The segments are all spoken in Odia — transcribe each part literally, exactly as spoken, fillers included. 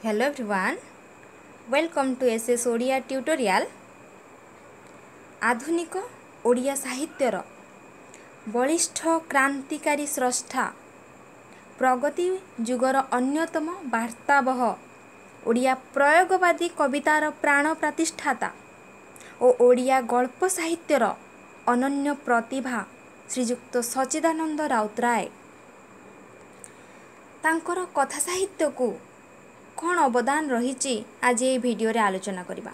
Hello everyone, welcome to S S Odia Tutorial. ଆଧୁନିକ ଓଡ଼ିଆ ସାହିତ୍ୟର ବଳିଷ୍ଠ କ୍ରାନ୍ତିକାରୀ ସ୍ରଷ୍ଟା, ପ୍ରଗତି ଯୁଗର ଅନ୍ୟତମ ବାର୍ତ୍ତାବହ, ଓଡ଼ିଆ ପ୍ରୟୋଗବାଦୀ କବିତାର ପ୍ରାଣ ପ୍ରତିଷ୍ଠାତା ଓ ଓଡ଼ିଆ ଗଳ୍ପ ସାହିତ୍ୟର ଅନନ୍ୟ ପ୍ରତିଭା ଶ୍ରୀଯୁକ୍ତ ସଚ୍ଚିଦାନନ୍ଦ ରାଉତରାୟ, ତାଙ୍କର କଥା ସାହିତ୍ୟକୁ କ'ଣ ଅବଦାନ ରହିଛି, ଆଜି ଏହି ଭିଡ଼ିଓରେ ଆଲୋଚନା କରିବା।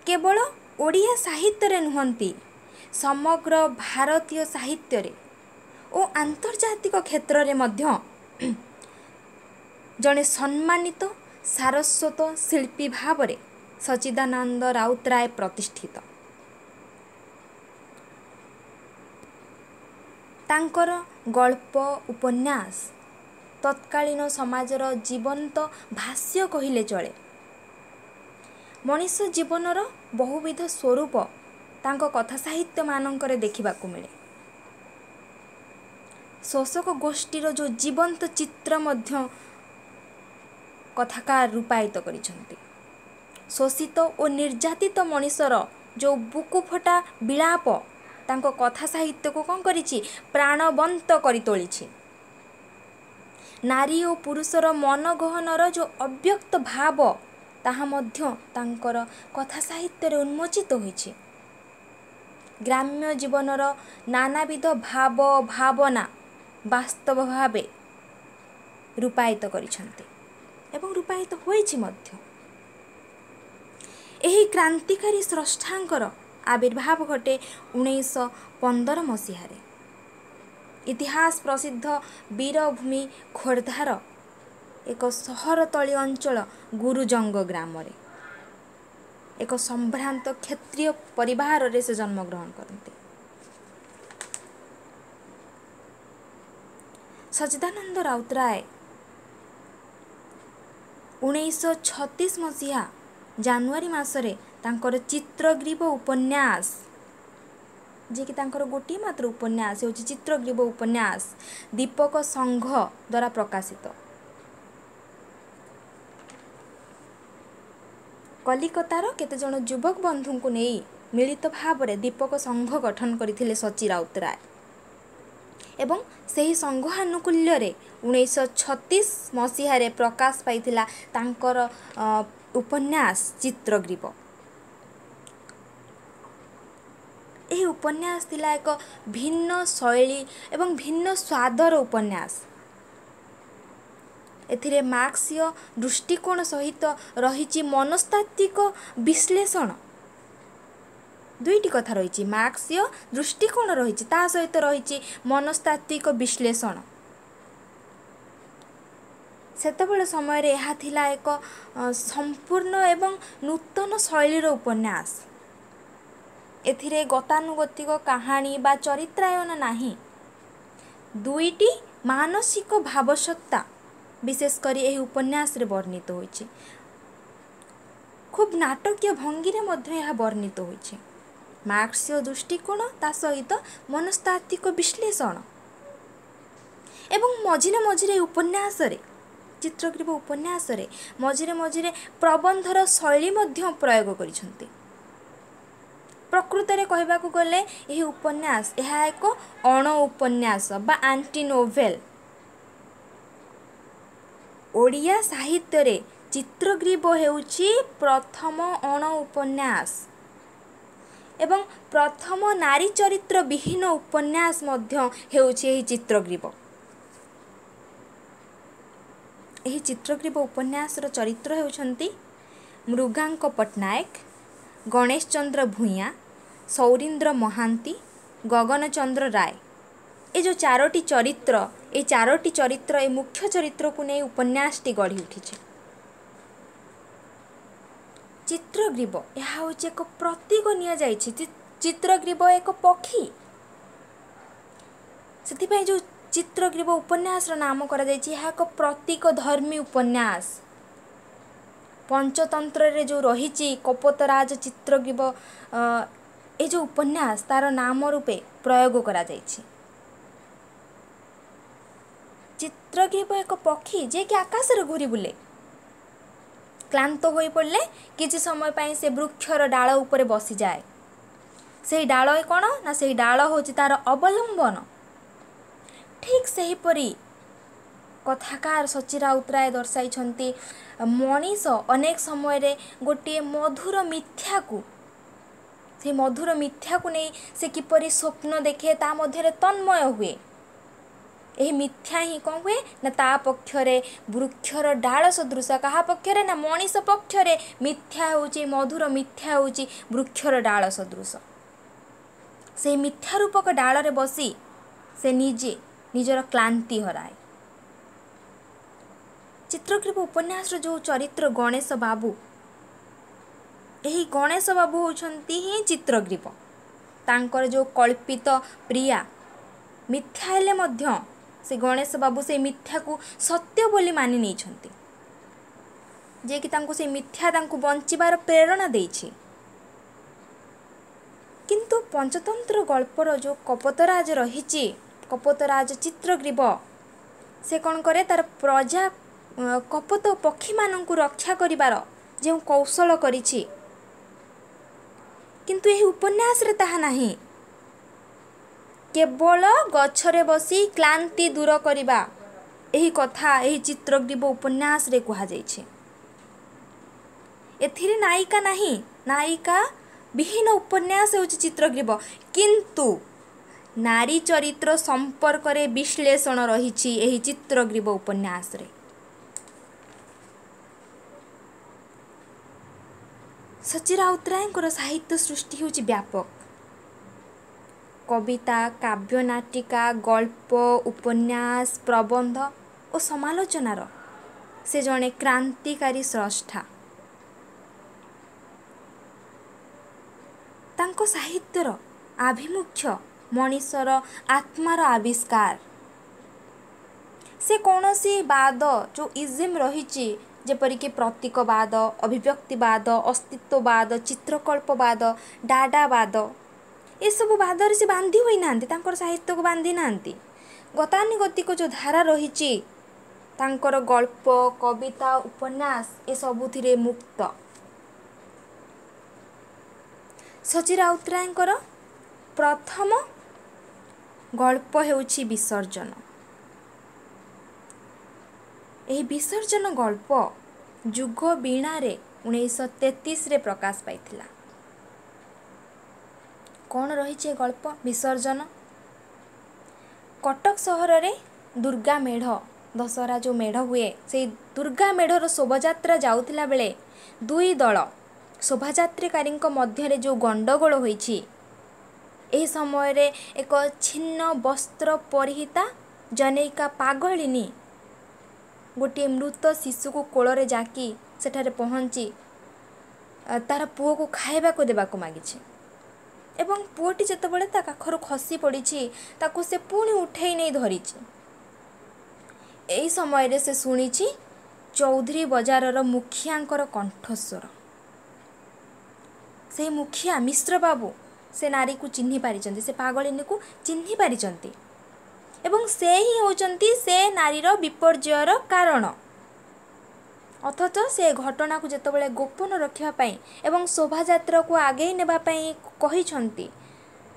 କେବଳ ଓଡ଼ିଆ ସାହିତ୍ୟରେ ନୁହନ୍ତି, ସମଗ୍ର ଭାରତୀୟ ସାହିତ୍ୟରେ ଓ ଆନ୍ତର୍ଜାତିକ କ୍ଷେତ୍ରରେ ମଧ୍ୟ ଜଣେ ସମ୍ମାନିତ ସାରସ୍ୱତ ଶିଳ୍ପୀ ଭାବରେ ସଚ୍ଚିଦାନନ୍ଦ ରାଉତରାୟ ପ୍ରତିଷ୍ଠିତ। ତାଙ୍କର ଗଳ୍ପ ଉପନ୍ୟାସ ତତ୍କାଳୀନ ସମାଜର ଜୀବନ୍ତ ଭାଷ୍ୟ କହିଲେ ଚଳେ। ମଣିଷ ଜୀବନର ବହୁବିଧ ସ୍ୱରୂପ ତାଙ୍କ କଥା ସାହିତ୍ୟମାନଙ୍କରେ ଦେଖିବାକୁ ମିଳେ। ଶୋଷକ ଗୋଷ୍ଠୀର ଯେଉଁ ଜୀବନ୍ତ ଚିତ୍ର ମଧ୍ୟ କଥାକାର ରୂପାୟିତ କରିଛନ୍ତି। ଶୋଷିତ ଓ ନିର୍ଯାତିତ ମଣିଷର ଯେଉଁ ବୁକୁଫଟା ବିଳାପ ତାଙ୍କ କଥା ସାହିତ୍ୟକୁ କ'ଣ କରିଛି? ପ୍ରାଣବନ୍ତ କରି ତୋଳିଛି। ନାରୀ ଓ ପୁରୁଷର ମନଗହନର ଯେଉଁ ଅବ୍ୟକ୍ତ ଭାବ, ତାହା ମଧ୍ୟ ତାଙ୍କର କଥା ସାହିତ୍ୟରେ ଉନ୍ମୋଚିତ ହୋଇଛି। ଗ୍ରାମ୍ୟ ଜୀବନର ନାନାବିଧ ଭାବ ଭାବନା ବାସ୍ତବ ଭାବେ ରୂପାୟିତ କରିଛନ୍ତି ଏବଂ ରୂପାୟିତ ହୋଇଛି ମଧ୍ୟ। ଏହି କ୍ରାନ୍ତିକାରୀ ସ୍ରଷ୍ଟାଙ୍କର ଆବିର୍ଭାବ ଘଟେ ଉଣେଇଶହ ପନ୍ଦର ମସିହାରେ ଇତିହାସ ପ୍ରସିଦ୍ଧ ବୀରଭୂମି ଖୋର୍ଦ୍ଧାର ଏକ ସହରତଳି ଅଞ୍ଚଳ ଗୁରୁଜଙ୍ଗ ଗ୍ରାମରେ ଏକ ସମ୍ଭ୍ରାନ୍ତ କ୍ଷତ୍ରିୟ ପରିବାରରେ ସେ ଜନ୍ମଗ୍ରହଣ କରନ୍ତି। ସଚ୍ଚିଦାନନ୍ଦ ରାଉତରାୟ ଉଣେଇଶହ ଛତିଶ ମସିହା ଜାନୁଆରୀ ମାସରେ ତାଙ୍କର ଚିତ୍ରଗ୍ରୀବ ଉପନ୍ୟାସ, ଯିଏକି ତାଙ୍କର ଗୋଟିଏ ମାତ୍ର ଉପନ୍ୟାସ ହେଉଛି ଚିତ୍ରଗ୍ରୀବ ଉପନ୍ୟାସ, ଦୀପକ ସଂଘ ଦ୍ୱାରା ପ୍ରକାଶିତ। କଲିକତାର କେତେଜଣ ଯୁବକ ବନ୍ଧୁଙ୍କୁ ନେଇ ମିଳିତ ଭାବରେ ଦୀପକ ସଂଘ ଗଠନ କରିଥିଲେ ସଚି ରାଉତରାୟ ଏବଂ ସେହି ସଂଘ ଆନୁକୂଲ୍ୟରେ ଉଣେଇଶହ ଛତିଶ ମସିହାରେ ପ୍ରକାଶ ପାଇଥିଲା ତାଙ୍କର ଉପନ୍ୟାସ ଚିତ୍ରଗ୍ରୀବ। ଏହି ଉପନ୍ୟାସ ଥିଲା ଏକ ଭିନ୍ନ ଶୈଳୀ ଏବଂ ଭିନ୍ନ ସ୍ୱାଦର ଉପନ୍ୟାସ। ଏଥିରେ ମାର୍କ୍ସୀୟ ଦୃଷ୍ଟିକୋଣ ସହିତ ରହିଛି ମନସ୍ତାତ୍ତ୍ୱିକ ବିଶ୍ଳେଷଣ। ଦୁଇଟି କଥା ରହିଛି, ମାର୍କ୍ସୀୟ ଦୃଷ୍ଟିକୋଣ ରହିଛି, ତା ସହିତ ରହିଛି ମନସ୍ତାତ୍ତ୍ୱିକ ବିଶ୍ଳେଷଣ। ସେତେବେଳେ ସମୟରେ ଏହା ଥିଲା ଏକ ସମ୍ପୂର୍ଣ୍ଣ ଏବଂ ନୂତନ ଶୈଳୀର ଉପନ୍ୟାସ। ଏଥିରେ ଗତାନୁଗତିକ କାହାଣୀ ବା ଚରିତ୍ରାୟନ ନାହିଁ। ଦୁଇଟି ମାନସିକ ଭାବସତ୍ତା ବିଶେଷ କରି ଏହି ଉପନ୍ୟାସରେ ବର୍ଣ୍ଣିତ ହୋଇଛି। ଖୁବ୍ ନାଟକୀୟ ଭଙ୍ଗୀରେ ମଧ୍ୟ ଏହା ବର୍ଣ୍ଣିତ ହୋଇଛି। ମାର୍କ୍ସୀୟ ଦୃଷ୍ଟିକୋଣ, ତା ସହିତ ମନସ୍ତାତ୍ତ୍ୱିକ ବିଶ୍ଳେଷଣ ଏବଂ ମଝିରେ ମଝିରେ ଉପନ୍ୟାସରେ, ଚିତ୍ରଗ୍ରୀବ ଉପନ୍ୟାସରେ ମଝିରେ ମଝିରେ ପ୍ରବନ୍ଧର ଶୈଳୀ ମଧ୍ୟ ପ୍ରୟୋଗ କରିଛନ୍ତି। ପ୍ରକୃତରେ କହିବାକୁ ଗଲେ ଏହି ଉପନ୍ୟାସ, ଏହା ଏକ ଅଣ ଉପନ୍ୟାସ ବା ଆଣ୍ଟି ନୋଭେଲ। ଓଡ଼ିଆ ସାହିତ୍ୟରେ ଚିତ୍ରଗ୍ରୀବ ହେଉଛି ପ୍ରଥମ ଅଣ ଉପନ୍ୟାସ ଏବଂ ପ୍ରଥମ ନାରୀ ଚରିତ୍ର ବିହୀନ ଉପନ୍ୟାସ ମଧ୍ୟ ହେଉଛି ଏହି ଚିତ୍ରଗ୍ରୀବ। ଏହି ଚିତ୍ରଗ୍ରୀବ ଉପନ୍ୟାସର ଚରିତ୍ର ହେଉଛନ୍ତି ମୃଗାଙ୍କ ପଟ୍ଟନାୟକ, ଗଣେଶ ଚନ୍ଦ୍ର ଭୂଇଁଆ, ସୌରୀନ୍ଦ୍ର ମହାନ୍ତି, ଗଗନଚନ୍ଦ୍ର ରାୟ। ଏ ଯେଉଁ ଚାରୋଟି ଚରିତ୍ର, ଏଇ ଚାରୋଟି ଚରିତ୍ର, ଏ ମୁଖ୍ୟ ଚରିତ୍ରକୁ ନେଇ ଉପନ୍ୟାସଟି ଗଢ଼ି ଉଠିଛି। ଚିତ୍ରଗ୍ରୀବ, ଏହା ହେଉଛି ଏକ ପ୍ରତୀକ ନିଆଯାଇଛି। ଚିତ୍ରଗ୍ରୀବ ଏକ ପକ୍ଷୀ, ସେଥିପାଇଁ ଯେଉଁ ଚିତ୍ରଗ୍ରୀବ ଉପନ୍ୟାସର ନାମ କରାଯାଇଛି, ଏହା ଏକ ପ୍ରତୀକ ଧର୍ମୀ ଉପନ୍ୟାସ। ପଞ୍ଚତନ୍ତ୍ରରେ ଯେଉଁ ରହିଛି କପୋତରାଜ ଚିତ୍ରଗ୍ରୀବ, ଏ ଯେଉଁ ଉପନ୍ୟାସ ତାର ନାମ ରୂପେ ପ୍ରୟୋଗ କରାଯାଇଛି। ଚିତ୍ରଗ୍ରୀବ ଏକ ପକ୍ଷୀ ଯିଏକି ଆକାଶରେ ଘୁରି ବୁଲେ। କ୍ଳାନ୍ତ ହୋଇପଡ଼ିଲେ କିଛି ସମୟ ପାଇଁ ସେ ବୃକ୍ଷର ଡାଳ ଉପରେ ବସିଯାଏ। ସେଇ ଡାଳ କ'ଣ ନା ସେଇ ଡାଳ ହେଉଛି ତାର ଅବଲମ୍ବନ। ଠିକ୍ ସେହିପରି କଥାକାର ସଚ୍ଚି ରାଉତରାୟ ଦର୍ଶାଇଛନ୍ତି, ମଣିଷ ଅନେକ ସମୟରେ ଗୋଟିଏ ମଧୁର ମିଥ୍ୟାକୁ, ସେଇ ମଧୁର ମିଥ୍ୟାକୁ ନେଇ ସେ କିପରି ସ୍ୱପ୍ନ ଦେଖେ, ତା ମଧ୍ୟରେ ତନ୍ମୟ ହୁଏ। ଏହି ମିଥ୍ୟା ହିଁ କ'ଣ ହୁଏ ନା ତା ପକ୍ଷରେ ବୃକ୍ଷର ଡାଳ ସଦୃଶ। କାହା ପକ୍ଷରେ ନା ମଣିଷ ପକ୍ଷରେ ମିଥ୍ୟା ହେଉଛି, ମଧୁର ମିଥ୍ୟା ହେଉଛି ବୃକ୍ଷର ଡାଳ ସଦୃଶ। ସେଇ ମିଥ୍ୟା ରୂପକ ଡାଳରେ ବସି ସେ ନିଜେ ନିଜର କ୍ଳାନ୍ତି ହରାଏ। ଚିତ୍ରଗ୍ରୀବ ଉପନ୍ୟାସର ଯେଉଁ ଚରିତ୍ର ଗଣେଶ ବାବୁ, ଏହି ଗଣେଶ ବାବୁ ହେଉଛନ୍ତି ହିଁ ଚିତ୍ରଗ୍ରୀବ। ତାଙ୍କର ଯେଉଁ କଳ୍ପିତ ପ୍ରିୟା ମିଥ୍ୟା ହେଲେ ମଧ୍ୟ ସେ ଗଣେଶ ବାବୁ ସେଇ ମିଥ୍ୟାକୁ ସତ୍ୟ ବୋଲି ମାନି ନେଇଛନ୍ତି, ଯିଏକି ତାଙ୍କୁ ସେଇ ମିଥ୍ୟା ତାଙ୍କୁ ବଞ୍ଚିବାର ପ୍ରେରଣା ଦେଇଛି। କିନ୍ତୁ ପଞ୍ଚତନ୍ତ୍ର ଗଳ୍ପର ଯେଉଁ କପୋତରାଜ ରହିଛି, କପୋତରାଜ ଚିତ୍ରଗ୍ରୀବ, ସେ କ'ଣ କରେ, ତାର ପ୍ରଜା କପୋତ ପକ୍ଷୀମାନଙ୍କୁ ରକ୍ଷା କରିବାର ଯେଉଁ କୌଶଳ କରିଛି, କିନ୍ତୁ ଏହି ଉପନ୍ୟାସରେ ତାହା ନାହିଁ। କେବଳ ଗଛରେ ବସି କ୍ଳାନ୍ତି ଦୂର କରିବା, ଏହି କଥା ଏହି ଚିତ୍ରଗ୍ରୀବ ଉପନ୍ୟାସରେ କୁହାଯାଇଛି। ଏଥିରେ ନାୟିକା ନାହିଁ, ନାୟିକା ବିହୀନ ଉପନ୍ୟାସ ହେଉଛି ଚିତ୍ରଗ୍ରୀବ, କିନ୍ତୁ ନାରୀ ଚରିତ୍ର ସମ୍ପର୍କରେ ବିଶ୍ଳେଷଣ ରହିଛି ଏହି ଚିତ୍ରଗ୍ରୀବ ଉପନ୍ୟାସରେ। ସଚ୍ଚି ରାଉତରାୟଙ୍କର ସାହିତ୍ୟ ସୃଷ୍ଟି ହେଉଛି ବ୍ୟାପକ। କବିତା, କାବ୍ୟ ନାଟିକା, ଗଳ୍ପ, ଉପନ୍ୟାସ, ପ୍ରବନ୍ଧ ଓ ସମାଲୋଚନାର ସେ ଜଣେ କ୍ରାନ୍ତିକାରୀ ସ୍ରଷ୍ଟା। ତାଙ୍କ ସାହିତ୍ୟର ଆଭିମୁଖ୍ୟ ମଣିଷର ଆତ୍ମାର ଆବିଷ୍କାର। ସେ କୌଣସି ବାଦ, ଯେଉଁ ଇଜିମ୍ ରହିଛି, ଯେପରିକି ପ୍ରତୀକବାଦ, ଅଭିବ୍ୟକ୍ତିବାଦ, ଅସ୍ତିତ୍ୱବାଦ, ଚିତ୍ରକଳ୍ପବାଦ, ଡାଡାବାଦ, ଏସବୁ ବାଦରେ ସେ ବାନ୍ଧି ହୋଇନାହାନ୍ତି, ତାଙ୍କର ସାହିତ୍ୟକୁ ବାନ୍ଧି ନାହାନ୍ତି। ଗତାନୁଗତିକ ଯେଉଁ ଧାରା ରହିଛି ତାଙ୍କର ଗଳ୍ପ, କବିତା, ଉପନ୍ୟାସ ଏସବୁଥିରେ ମୁକ୍ତ। ସଚ୍ଚି ରାଉତରାୟଙ୍କର ପ୍ରଥମ ଗଳ୍ପ ହେଉଛି ବିସର୍ଜନ। ଏହି ବିସର୍ଜନ ଗଳ୍ପ ଯୁଗ ବୀଣାରେ ଉଣେଇଶହ ତେତିଶରେ ପ୍ରକାଶ ପାଇଥିଲା। କ'ଣ ରହିଛି ଏ ଗଳ୍ପ ବିସର୍ଜନ? କଟକ ସହରରେ ଦୁର୍ଗା ମେଢ଼, ଦଶହରା ଯେଉଁ ମେଢ଼ ହୁଏ, ସେଇ ଦୁର୍ଗା ମେଢ଼ର ଶୋଭାଯାତ୍ରା ଯାଉଥିଲା ବେଳେ ଦୁଇ ଦଳ ଶୋଭାଯାତ୍ରୀକାରୀଙ୍କ ମଧ୍ୟରେ ଯେଉଁ ଗଣ୍ଡଗୋଳ ହୋଇଛି, ଏହି ସମୟରେ ଏକ ଛିନ୍ନ ବସ୍ତ୍ର ପରିହିତା ଜନୈକା ପାଗଳିନୀ ଗୋଟିଏ ମୃତ ଶିଶୁକୁ କୋଳରେ ଜାକି ସେଠାରେ ପହଞ୍ଚି ତାର ପୁଅକୁ ଖାଇବାକୁ ଦେବାକୁ ମାଗିଛି, ଏବଂ ପୁଅଟି ଯେତେବେଳେ ତା କାଖରୁ ଖସି ପଡ଼ିଛି ତାକୁ ସେ ପୁଣି ଉଠେଇ ନେଇ ଧରିଛି। ଏହି ସମୟରେ ସେ ଶୁଣିଛି ଚୌଧୁରୀ ବଜାରର ମୁଖିଆଙ୍କର କଣ୍ଠସ୍ୱର। ସେଇ ମୁଖିଆ ମିଶ୍ର ବାବୁ ସେ ନାରୀକୁ ଚିହ୍ନି ପାରିଛନ୍ତି, ସେ ପାଗଳିନୀକୁ ଚିହ୍ନି ପାରିଛନ୍ତି, ଏବଂ ସେ ହିଁ ହେଉଛନ୍ତି ସେ ନାରୀର ବିପର୍ଯ୍ୟୟର କାରଣ। ଅଥଚ ସେ ଘଟଣାକୁ ଯେତେବେଳେ ଗୋପନ ରଖିବା ପାଇଁ ଏବଂ ଶୋଭାଯାତ୍ରାକୁ ଆଗେଇ ନେବା ପାଇଁ କହିଛନ୍ତି,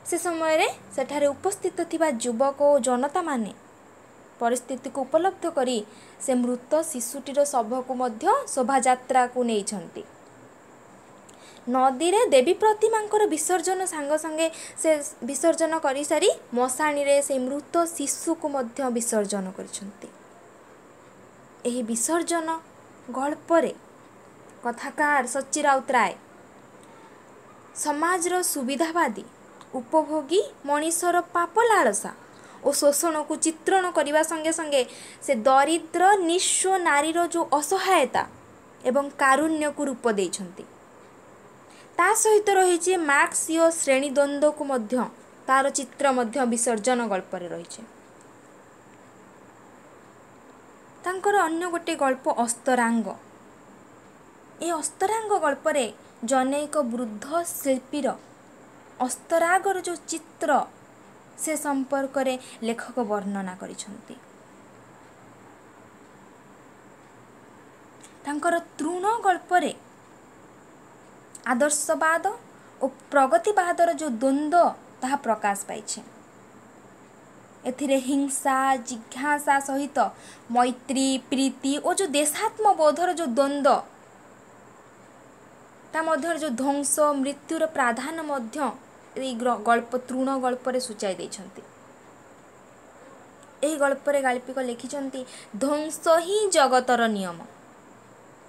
ସେ ସମୟରେ ସେଠାରେ ଉପସ୍ଥିତ ଥିବା ଯୁବକ ଓ ଜନତାମାନେ ପରିସ୍ଥିତିକୁ ଉପଲବ୍ଧ କରି ସେ ମୃତ ଶିଶୁଟିର ଶବକୁ ମଧ୍ୟ ଶୋଭାଯାତ୍ରାକୁ ନେଇଛନ୍ତି। ନଦୀରେ ଦେବୀ ପ୍ରତିମାଙ୍କର ବିସର୍ଜନ ସାଙ୍ଗେ ସାଙ୍ଗେ ସେ ବିସର୍ଜନ କରିସାରି ମଶାଣିରେ ସେଇ ମୃତ ଶିଶୁକୁ ମଧ୍ୟ ବିସର୍ଜନ କରିଛନ୍ତି। ଏହି ବିସର୍ଜନ ଗଳ୍ପରେ କଥାକାର ସଚ୍ଚି ରାଉତରାୟ ସମାଜର ସୁବିଧାବାଦୀ ଉପଭୋଗୀ ମଣିଷର ପାପ ଲାଳସା ଓ ଶୋଷଣକୁ ଚିତ୍ରଣ କରିବା ସଙ୍ଗେ ସଙ୍ଗେ ସେ ଦରିଦ୍ର ନିଃସ୍ୱ ନାରୀର ଯେଉଁ ଅସହାୟତା ଏବଂ କାରୁଣ୍ୟକୁ ରୂପ ଦେଇଛନ୍ତି। ତା ସହିତ ରହିଛି ମାର୍କ୍ସୀୟ ଶ୍ରେଣୀଦ୍ୱନ୍ଦ୍ୱକୁ ମଧ୍ୟ ତାର ଚିତ୍ର ମଧ୍ୟ ବିସର୍ଜନ ଗଳ୍ପରେ ରହିଛି। ତାଙ୍କର ଅନ୍ୟ ଗୋଟିଏ ଗଳ୍ପ ଅସ୍ତରାଙ୍ଗ। ଏ ଅସ୍ତରାଙ୍ଗ ଗଳ୍ପରେ ଜନୈକ ବୃଦ୍ଧ ଶିଳ୍ପୀର ଅସ୍ତରାଗର ଯେଉଁ ଚିତ୍ର ସେ ସମ୍ପର୍କରେ ଲେଖକ ବର୍ଣ୍ଣନା କରିଛନ୍ତି। ତାଙ୍କର ତୃଣ ଗଳ୍ପରେ ଆଦର୍ଶବାଦ ଓ ପ୍ରଗତିବାଦର ଯେଉଁ ଦ୍ୱନ୍ଦ୍ୱ ତାହା ପ୍ରକାଶ ପାଇଛି। ଏଥିରେ ହିଂସା, ଜିଜ୍ଞାସା ସହିତ ମୈତ୍ରୀ, ପ୍ରୀତି ଓ ଯେଉଁ ଦେଶାତ୍ମବୋଧର ଯେଉଁ ଦ୍ୱନ୍ଦ୍ୱ, ତା ମଧ୍ୟରେ ଯେଉଁ ଧ୍ୱଂସ, ମୃତ୍ୟୁର ପ୍ରାଧାନ୍ୟ ମଧ୍ୟ ଏଇ ଗଳ୍ପ ତୃଣ ଗଳ୍ପରେ ସୂଚାଇ ଦେଇଛନ୍ତି। ଏହି ଗଳ୍ପରେ ଗାଳ୍ପିକ ଲେଖିଛନ୍ତି, ଧ୍ୱଂସ ହିଁ ଜଗତର ନିୟମ,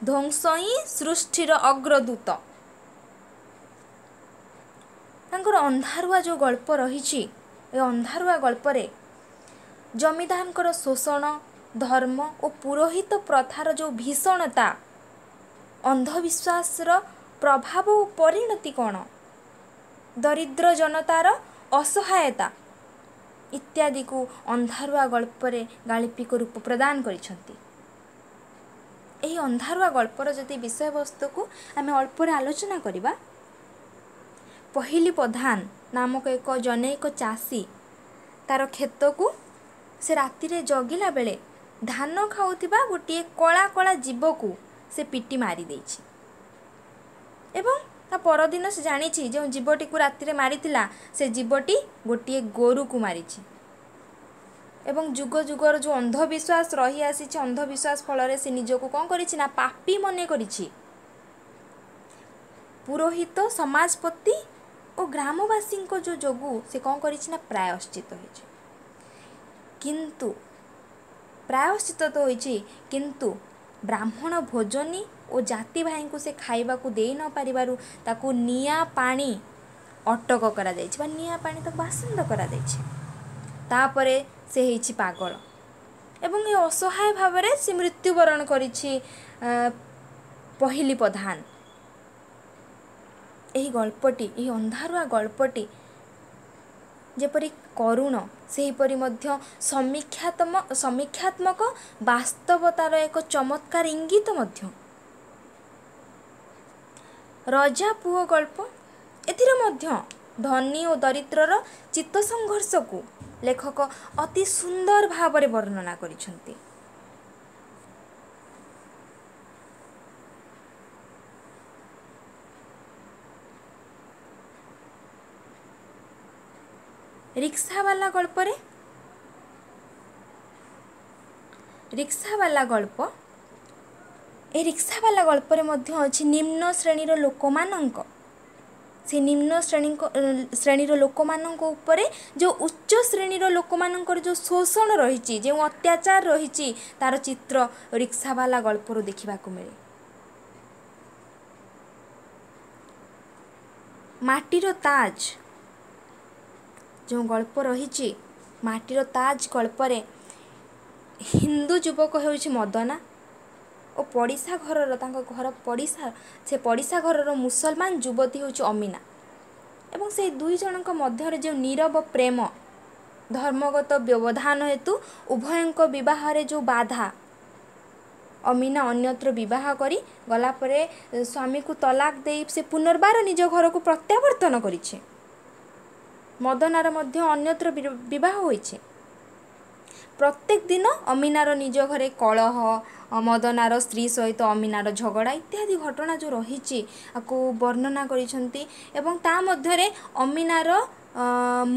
ଧ୍ୱଂସ ହିଁ ସୃଷ୍ଟିର ଅଗ୍ରଦୂତ। ତାଙ୍କର ଅନ୍ଧାରୁଆ ଯେଉଁ ଗଳ୍ପ ରହିଛି, ଏ ଅନ୍ଧାରୁଆ ଗଳ୍ପରେ ଜମିଦାରଙ୍କର ଶୋଷଣ, ଧର୍ମ ଓ ପୁରୋହିତ ପ୍ରଥାର ଯେଉଁ ଭୀଷଣତା, ଅନ୍ଧବିଶ୍ୱାସର ପ୍ରଭାବ ଓ ପରିଣତି କ'ଣ, ଦରିଦ୍ର ଜନତାର ଅସହାୟତା ଇତ୍ୟାଦିକୁ ଅନ୍ଧାରୁଆ ଗଳ୍ପରେ ଗାଳ୍ପିକ ରୂପ ପ୍ରଦାନ କରିଛନ୍ତି। ଏହି ଅନ୍ଧାରୁଆ ଗଳ୍ପର ଯଦି ବିଷୟବସ୍ତୁକୁ ଆମେ ଅଳ୍ପରେ ଆଲୋଚନା କରିବା, ପହିଲି ପ୍ରଧାନ ନାମକ ଏକ ଜନୈକ ଚାଷୀ ତାର କ୍ଷେତକୁ ସେ ରାତିରେ ଜଗିଲା ବେଳେ ଧାନ ଖାଉଥିବା ଗୋଟିଏ କଳା କଳା ଜୀବକୁ ସେ ପିଟି ମାରି ଦେଇଛି ଏବଂ ତା ପରଦିନ ସେ ଜାଣିଛି ଯେଉଁ ଜୀବଟିକୁ ରାତିରେ ମାରିଥିଲା ସେ ଜୀବଟି ଗୋଟିଏ ଗୋରୁକୁ ମାରିଛି। ଏବଂ ଯୁଗ ଯୁଗର ଯେଉଁ ଅନ୍ଧବିଶ୍ୱାସ ରହିଆସିଛି, ଅନ୍ଧବିଶ୍ୱାସ ଫଳରେ ସେ ନିଜକୁ କ'ଣ କରିଛି ନା ପାପୀ ମନେ କରିଛି। ପୁରୋହିତ, ସମାଜପତି ଓ ଗ୍ରାମବାସୀଙ୍କ ଯେଉଁ ଯୋଗୁଁ ସେ କ'ଣ କରିଛି ନା ପ୍ରାୟଶ୍ଚିତ ହୋଇଛି। କିନ୍ତୁ ପ୍ରାୟଶ୍ଚିତ ତ ହୋଇଛି, କିନ୍ତୁ ବ୍ରାହ୍ମଣ ଭୋଜନୀ ଓ ଜାତି ଭାଇଙ୍କୁ ସେ ଖାଇବାକୁ ଦେଇ ନ ପାରିବାରୁ ତାକୁ ନିଆଁ ପାଣି ଅଟକ କରାଯାଇଛି ବା ନିଆଁ ପାଣି ତାକୁ ବାସନ୍ଦ କରାଯାଇଛି। ତାପରେ ସେ ହେଇଛି ପାଗଳ ଏବଂ ଏ ଅସହାୟ ଭାବରେ ସେ ମୃତ୍ୟୁବରଣ କରିଛି ପହିଲି ପ୍ରଧାନ। ଏହି ଗଳ୍ପଟି, ଏହି ଅନ୍ଧାରୁଆ ଗଳ୍ପଟି ଯେପରି କରୁଣ, ସେହିପରି ମଧ୍ୟ ସମୀକ୍ଷାତ୍ମ ସମୀକ୍ଷାତ୍ମକ ବାସ୍ତବତାର ଏକ ଚମତ୍କାର ଇଙ୍ଗିତ ମଧ୍ୟ। ରଜା ପୁଅ ଗଳ୍ପ, ଏଥିରେ ମଧ୍ୟ ଧନୀ ଓ ଦରିଦ୍ରର ଚିତ୍ତ ସଂଘର୍ଷକୁ ଲେଖକ ଅତି ସୁନ୍ଦର ଭାବରେ ବର୍ଣ୍ଣନା କରିଛନ୍ତି। ରିକ୍ସାବାଲା ଗଳ୍ପରେ ରିକ୍ସାବାଲା ଗଳ୍ପ ଏ ରିକ୍ସାବାଲା ଗଳ୍ପରେ ମଧ୍ୟ ଅଛି ନିମ୍ନ ଶ୍ରେଣୀର ଲୋକମାନଙ୍କ, ସେ ନିମ୍ନ ଶ୍ରେଣୀଙ୍କ ଶ୍ରେଣୀର ଲୋକମାନଙ୍କ ଉପରେ ଯେଉଁ ଉଚ୍ଚ ଶ୍ରେଣୀର ଲୋକମାନଙ୍କର ଯେଉଁ ଶୋଷଣ ରହିଛି, ଯେଉଁ ଅତ୍ୟାଚାର ରହିଛି, ତାର ଚିତ୍ର ରିକ୍ସାବାଲା ଗଳ୍ପରୁ ଦେଖିବାକୁ ମିଳେ। ମାଟିର ତାଜ ଯେଉଁ ଗଳ୍ପ ରହିଛି, ମାଟିର ତାଜ ଗଳ୍ପରେ ହିନ୍ଦୁ ଯୁବକ ହେଉଛି ମଦନା ଓ ପଡ଼ିଶା ଘରର, ତାଙ୍କ ଘର ପଡ଼ିଶା, ସେ ପଡ଼ିଶା ଘରର ମୁସଲମାନ ଯୁବତୀ ହେଉଛି ଅମିନା ଏବଂ ସେଇ ଦୁଇ ଜଣଙ୍କ ମଧ୍ୟରେ ଯେଉଁ ନୀରବ ପ୍ରେମ, ଧର୍ମଗତ ବ୍ୟବଧାନ ହେତୁ ଉଭୟଙ୍କ ବିବାହରେ ଯେଉଁ ବାଧା, ଅମିନା ଅନ୍ୟତ୍ର ବିବାହ କରି ଗଲା ପରେ ସ୍ୱାମୀକୁ ତଲାକ ଦେଇ ସେ ପୁନର୍ବାର ନିଜ ଘରକୁ ପ୍ରତ୍ୟାବର୍ତ୍ତନ କରିଛି। ମଦନାର ମଧ୍ୟ ଅନ୍ୟତ୍ର ବିବାହ ହୋଇଛି। ପ୍ରତ୍ୟେକ ଦିନ ଅମିନାର ନିଜ ଘରେ କଳହ, ମଦନାର ସ୍ତ୍ରୀ ସହିତ ଅମିନାର ଝଗଡ଼ା ଇତ୍ୟାଦି ଘଟଣା ଯେଉଁ ରହିଛି ଆକୁ ବର୍ଣ୍ଣନା କରିଛନ୍ତି ଏବଂ ତା ମଧ୍ୟରେ ଅମିନାର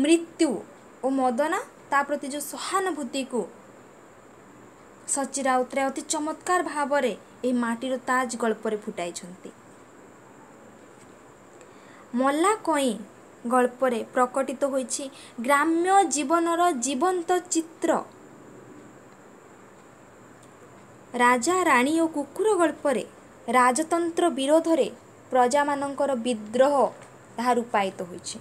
ମୃତ୍ୟୁ ଓ ମଦନା ତା ପ୍ରତି ଯେଉଁ ସହାନୁଭୂତିକୁ ସଚ୍ଚି ରାଉତରାୟ ଅତି ଚମତ୍କାର ଭାବରେ ଏହି ମାଟିର ତାଜ ଗଳ୍ପରେ ଫୁଟାଇଛନ୍ତି। ମଲା କଇଁ ଗଳ୍ପରେ ପ୍ରକଟିତ ହୋଇଛି ଗ୍ରାମ୍ୟ ଜୀବନର ଜୀବନ୍ତ ଚିତ୍ର। ରାଜା, ରାଣୀ ଓ କୁକୁର ଗଳ୍ପରେ ରାଜତନ୍ତ୍ର ବିରୋଧରେ ପ୍ରଜାମାନଙ୍କର ବିଦ୍ରୋହ ତାହା ରୂପାୟିତ ହୋଇଛି।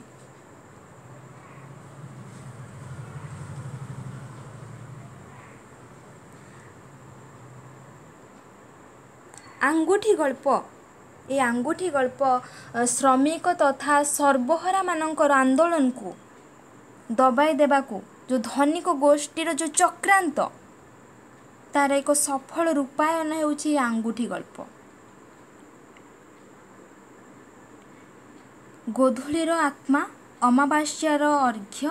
ଆଙ୍ଗୁଠି ଗଳ୍ପ, ଏ ଆଙ୍ଗୁଠି ଗଳ୍ପ ଶ୍ରମିକ ତଥା ସର୍ବହରାମାନଙ୍କର ଆନ୍ଦୋଳନକୁ ଦବାଇ ଦେବାକୁ ଯେଉଁ ଧନିକ ଗୋଷ୍ଠୀର ଯେଉଁ ଚକ୍ରାନ୍ତ, ତାର ଏକ ସଫଳ ରୂପାୟନ ହେଉଛି ଆଙ୍ଗୁଠି ଗଳ୍ପ। ଗୋଧୂଳିର ଆତ୍ମା, ଅମାବାସ୍ୟାର ଅର୍ଘ୍ୟ,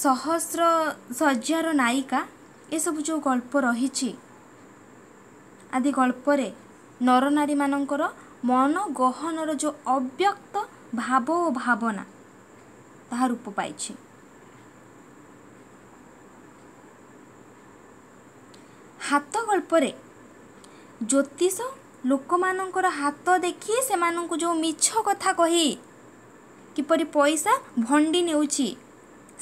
ସହସ୍ର ଶଯ୍ୟାର ନାୟିକା, ଏସବୁ ଯେଉଁ ଗଳ୍ପ ରହିଛି ଆଦି ଗଳ୍ପରେ ନରନାରୀମାନଙ୍କର ମନ ଗହନର ଯେଉଁ ଅବ୍ୟକ୍ତ ଭାବ ଓ ଭାବନା ତାହା ରୂପ ପାଇଛି। ହାତ ଗଳ୍ପରେ ଜ୍ୟୋତିଷ ଲୋକମାନଙ୍କର ହାତ ଦେଖି ସେମାନଙ୍କୁ ଯେଉଁ ମିଛ କଥା କହି କିପରି ପଇସା ଭଣ୍ଡି ନେଉଛି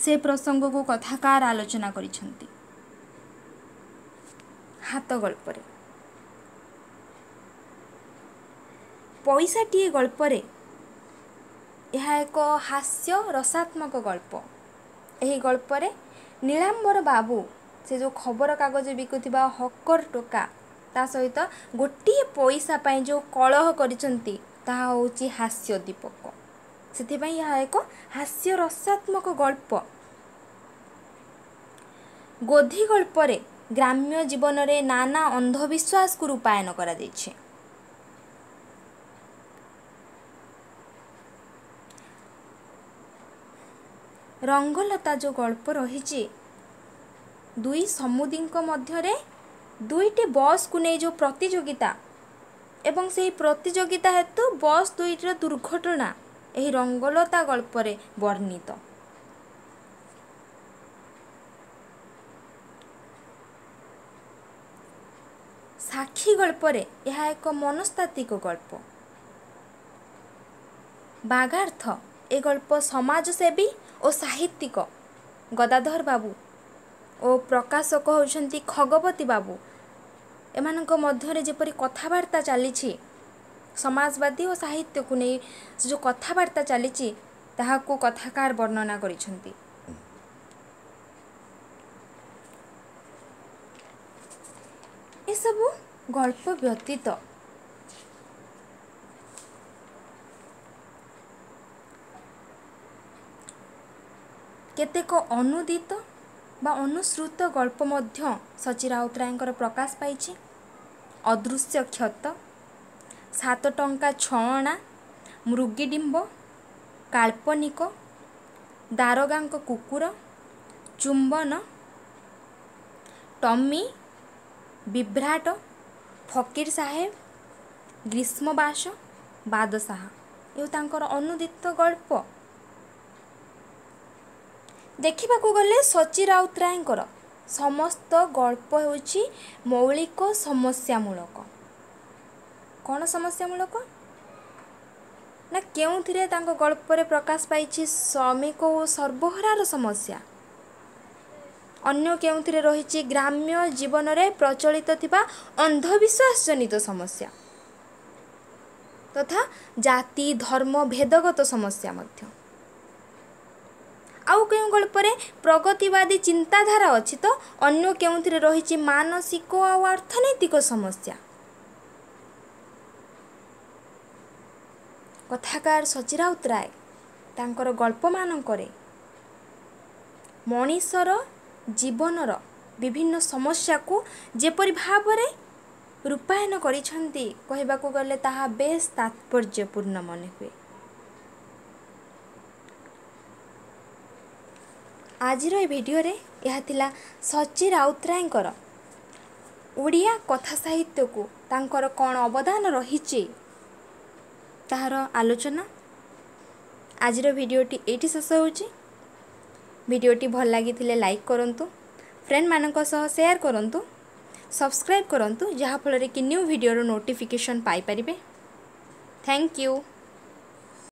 ସେ ପ୍ରସଙ୍ଗକୁ କଥାକାର ଆଲୋଚନା କରିଛନ୍ତି ହାତ ଗଳ୍ପରେ। ପଇସାଟିଏ ଗଳ୍ପରେ ଏହା ଏକ ହାସ୍ୟ ରସାତ୍ମକ ଗଳ୍ପ। ଏହି ଗଳ୍ପରେ ନୀଳାମ୍ବର ବାବୁ ସେ ଯେଉଁ ଖବରକାଗଜ ବିକୁଥିବା ହକର ଟୋକା ତା ସହିତ ଗୋଟିଏ ପଇସା ପାଇଁ ଯେଉଁ କଳହ କରିଛନ୍ତି ତାହା ହେଉଛି ହାସ୍ୟୋଦ୍ଦୀପକ। ସେଥିପାଇଁ ଏହା ଏକ ହାସ୍ୟ ରସାତ୍ମକ ଗଳ୍ପ। ଗୋଧି ଗଳ୍ପରେ ଗ୍ରାମ୍ୟ ଜୀବନରେ ନାନା ଅନ୍ଧବିଶ୍ୱାସକୁ ରୂପାୟନ କରାଯାଇଛି। ରଙ୍ଗଲତା ଯେଉଁ ଗଳ୍ପ ରହିଛି, ଦୁଇ ସମୁଦୀଙ୍କ ମଧ୍ୟରେ ଦୁଇଟି ବସ୍କୁ ନେଇ ଯେଉଁ ପ୍ରତିଯୋଗିତା ଏବଂ ସେହି ପ୍ରତିଯୋଗିତା ହେତୁ ବସ୍ ଦୁଇଟିର ଦୁର୍ଘଟଣା ଏହି ରଙ୍ଗଲତା ଗଳ୍ପରେ ବର୍ଣ୍ଣିତ। ସାକ୍ଷୀ ଗଳ୍ପରେ ଏହା ଏକ ମନସ୍ତାତ୍ତ୍ୱିକ ଗଳ୍ପ। ବାଗାର୍ଥ ଏ ଗଳ୍ପ ସମାଜସେବୀ ଓ ସାହିତ୍ୟିକ ଗଦାଧର ବାବୁ ଓ ପ୍ରକାଶକ ହେଉଛନ୍ତି ଖଗପତି ବାବୁ, ଏମାନଙ୍କ ମଧ୍ୟରେ ଯେପରି କଥାବାର୍ତ୍ତା ଚାଲିଛି, ସମାଜବାଦୀ ଓ ସାହିତ୍ୟକୁ ନେଇ ସେ ଯେଉଁ କଥାବାର୍ତ୍ତା ଚାଲିଛି ତାହାକୁ କଥାକାର ବର୍ଣ୍ଣନା କରିଛନ୍ତି। ଏସବୁ ଗଳ୍ପ ବ୍ୟତୀତ କେତେକ ଅନୁଦିତ ବା ଅନୁସୃତ ଗଳ୍ପ ମଧ୍ୟ ସଚ୍ଚି ରାଉତରାୟଙ୍କର ପ୍ରକାଶ ପାଇଛି। ଅଦୃଶ୍ୟ କ୍ଷତ, ସାତ ଟଙ୍କା ଛଅ ଅଣା, ମୃଗିଡିମ୍ବ, କାଳ୍ପନିକ, ଦାରୋଗାଙ୍କ କୁକୁର, ଚୁମ୍ବନ, ଟମି, ବିଭ୍ରାଟ, ଫକୀର ସାହେବ, ଗ୍ରୀଷ୍ମବାସ, ବାଦଶାହା ଏ ତାଙ୍କର ଅନୁଦିତ ଗଳ୍ପ। ଦେଖିବାକୁ ଗଲେ ସଚ୍ଚି ରାଉତରାୟଙ୍କର ସମସ୍ତ ଗଳ୍ପ ହେଉଛି ମୌଳିକ ସମସ୍ୟାମୂଳକ। କ'ଣ ସମସ୍ୟାମୂଳକ ନା କେଉଁଥିରେ ତାଙ୍କ ଗଳ୍ପରେ ପ୍ରକାଶ ପାଇଛି ଶ୍ରମିକ ଓ ସର୍ବହରାର ସମସ୍ୟା, ଅନ୍ୟ କେଉଁଥିରେ ରହିଛି ଗ୍ରାମ୍ୟ ଜୀବନରେ ପ୍ରଚଳିତ ଥିବା ଅନ୍ଧବିଶ୍ୱାସ ଜନିତ ସମସ୍ୟା ତଥା ଜାତି ଧର୍ମ ଭେଦଗତ ସମସ୍ୟା ମଧ୍ୟ। ଆଉ କେଉଁ ଗଳ୍ପରେ ପ୍ରଗତିବାଦୀ ଚିନ୍ତାଧାରା ଅଛି ତ ଅନ୍ୟ କେଉଁଥିରେ ରହିଛି ମାନସିକ ଆଉ ଅର୍ଥନୈତିକ ସମସ୍ୟା। କଥାକାର ସଚ୍ଚି ରାଉତରାୟ ତାଙ୍କର ଗଳ୍ପମାନଙ୍କରେ ମଣିଷର ଜୀବନର ବିଭିନ୍ନ ସମସ୍ୟାକୁ ଯେପରି ଭାବରେ ରୂପାୟନ କରିଛନ୍ତି କହିବାକୁ ଗଲେ ତାହା ବେଶ ତାତ୍ପର୍ଯ୍ୟପୂର୍ଣ୍ଣ ମନେ ହୁଏ। ଆଜିର ଏ ଭିଡ଼ିଓରେ ଏହା ଥିଲା ସଚ୍ଚି ରାଉତରାୟଙ୍କର ଓଡ଼ିଆ କଥା ସାହିତ୍ୟକୁ ତାଙ୍କର କ'ଣ ଅବଦାନ ରହିଛି ତାହାର ଆଲୋଚନା। ଆଜିର ଭିଡ଼ିଓଟି ଏଇଠି ଶେଷ ହେଉଛି। ଭିଡ଼ିଓଟି ଭଲ ଲାଗିଥିଲେ ଲାଇକ୍ କରନ୍ତୁ, ଫ୍ରେଣ୍ଡମାନଙ୍କ ସହ ସେୟାର କରନ୍ତୁ, ସବସ୍କ୍ରାଇବ୍ କରନ୍ତୁ, ଯାହାଫଳରେ କି ନ୍ୟୁ ଭିଡ଼ିଓର ନୋଟିଫିକେସନ୍ ପାଇପାରିବେ। Thank you.